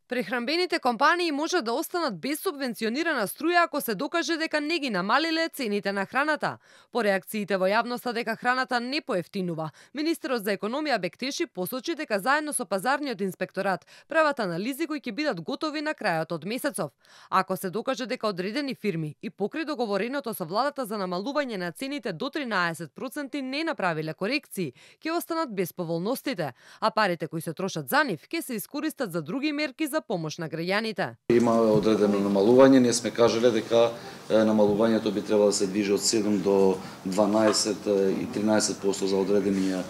Прехранбените компании може да останат без субвенционирана струја ако се докаже дека не ги намалиле цените на храната. По реакциите во јавноста дека храната не поевтинува, министерот за економија Бектеши посочи дека заедно со пазарниот инспекторат прават анализи кои ќе бидат готови на крајот од месецов. Ако се докаже дека одредени фирми и покрај договореното со владата за намалување на цените до 13% не направиле корекции, ќе останат без поволностите, а парите кои се трошат за нив ќе се искористат за други мерки за помош на граѓаните. Има одредено намалување, ние сме кажале дека намалувањето би требало да се движи од 7 до 12 и 13% за одредени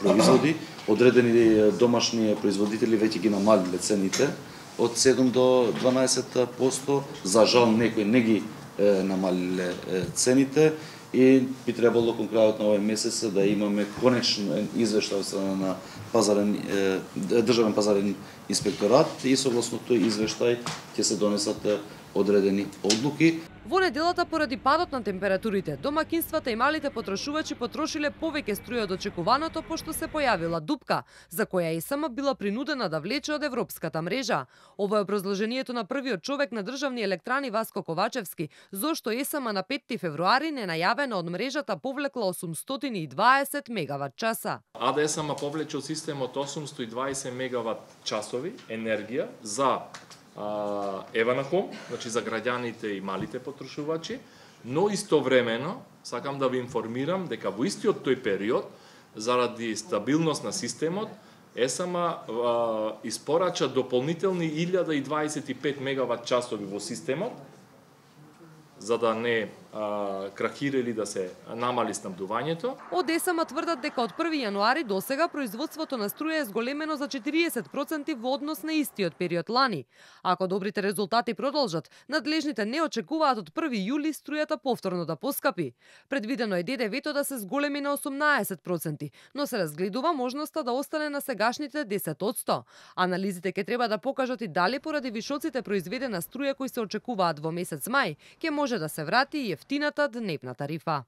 производи. Одредени домашни производители веќе ги намалиле цените од 7 до 12%. За жал некои не ги намалиле цените и би требало кон крајот на овој месец да имаме конечен извештај на државен пазарен инспекторат и согласно тој извештај ќе се донесат одредени одлуки. Во неделата, поради падот на температурите, домакинствата и малите потрошувачи потрошиле повеќе струја од очекуваното, пошто се појавила дупка, за која ЕСМ била принудена да влече од европската мрежа. Ово е образложението на првиот човек на државни електрани Васко Ковачевски, зошто ЕСМ на 5 февруари ненајавено од мрежата повлекла 820 мегават часа. АДСМ повлече од системот 820 мегават часови енергија за Еванахом, значи за граѓаните и малите потрошувачи, но истовремено сакам да ви информирам дека во истиот тој период, заради стабилност на системот, ЕСМ испорача дополнителни 1025 мегават часови во системот, за да не крахира или да се намали снабдувањето. Од ЕСМ тврдат дека од 1 јануари до сега производството на струја е зголемено за 40% во однос на истиот период лани. Ако добрите резултати продолжат, надлежните не очекуваат од 1 јули струјата повторно да поскапи. Предвидено е ДДВ-то да се зголеми на 18%, но се разгледува можноста да остане на сегашните 10%. Анализите ќе треба да покажат и дали поради вишоците произведена струја кои се очекуваат во месец мај, ќе може да се врати и ефтината дневна тарифа.